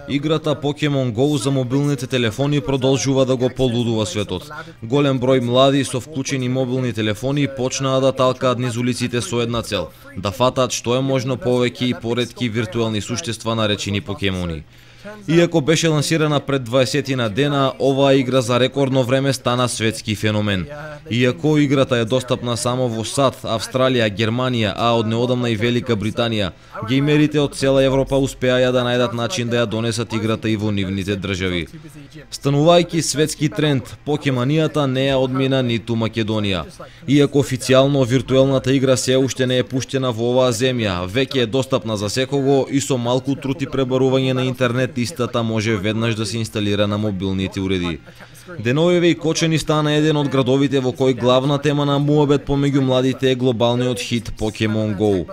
Играта Pokemon Go за мобилните телефони продолжува да го полудува светот. Голем број млади со вклучени мобилни телефони почнаа да талкаат низ улиците со една цел: да фатаат што е можно повеќе и поретки виртуелни суштества наречени покемони. Иако беше лансирана пред 20 дена, оваа игра за рекордно време стана светски феномен. Иако играта е достапна само во САД, Австралија, Германија, а од неодамна и Велика Британија, геймерите од цела Европа успеаја да најдат начин да ја донесат играта и во нивните држави. Станувајќи светски тренд, покеманијата не ја одмина ниту Македонија. Иако официјално виртуелната игра се уште не е пуштена во оваа земја, веќе е достапна за секого и со малку труд и пребарување на интернет истата може веднаш да се инсталира на мобилните уреди. Деновиве и Кочани стана еден од градовите во кој главна тема на муабет помеѓу младите е глобалниот хит Pokemon Go.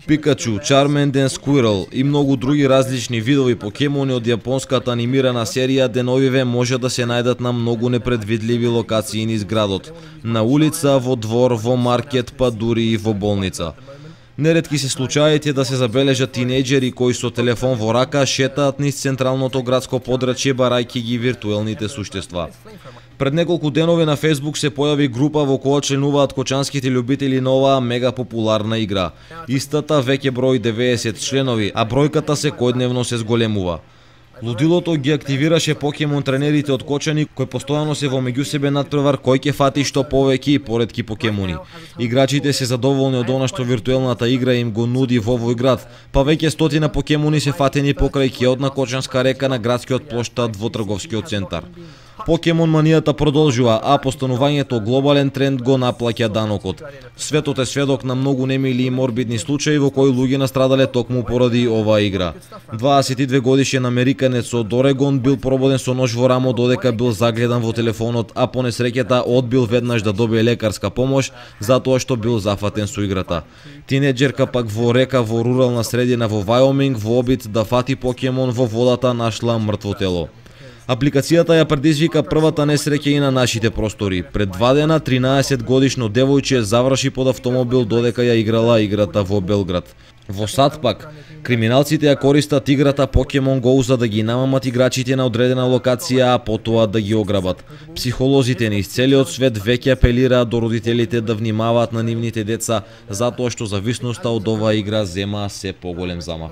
Пикачу, Charmander, Squirtle и многу други различни видови покемони од јапонската анимирана серија деновиве може да се најдат на многу непредвидливи локации низ градот. На улица, во двор, во маркет, па дури и во болница. Неретки се случаите да се забележат тинејџери кои со телефон во рака шетаат низ централното градско подрачје барајќи ги виртуелните суштества. Пред неколку денови на Facebook се појави група во која членуваат кочанските љубители на оваа мега популарна игра. Истата веќе брои 90 членови, а бројката секојдневно се зголемува. Лудилото ги активираше покемон тренерите од Кочани кои постојано се во меѓусебен надпревар кој ќе фати што повеќе и поретки покемони. Играчите се задоволни од она што виртуелната игра им го нуди во овој град, па веќе стотина покемони се фатени покрај ќеот Кочанска река на градскиот плоштад во трговскиот центар. Покемон манијата продолжува, а постанувањето глобален тренд го наплаќа данокот. Светот е сведок на многу немили и морбидни случаи во кои луѓе настрадале токму поради оваа игра. 22 годишен американец од Орегон бил прободен со нож во рамо додека бил загледан во телефонот, а по несреќата одбил веднаш да добие лекарска помош затоа што бил зафатен со играта. Тинеџерка пак во река во рурална средина во Вајоминг во обид да фати покемон во водата нашла мртво тело. Апликацијата ја предизвика првата несреќа и на нашите простори. Пред 2 дена 13 годишно девојче заврши под автомобил додека ја играла играта во Белград. Во САД пак, криминалците ја користат играта Pokemon Go за да ги намамат играчите на одредена локација, а потоа да ги ограбат. Психолозите низ целиот свет веќе апелираат до родителите да внимаваат на нивните деца, затоа што зависноста од оваа игра зема се поголем замав.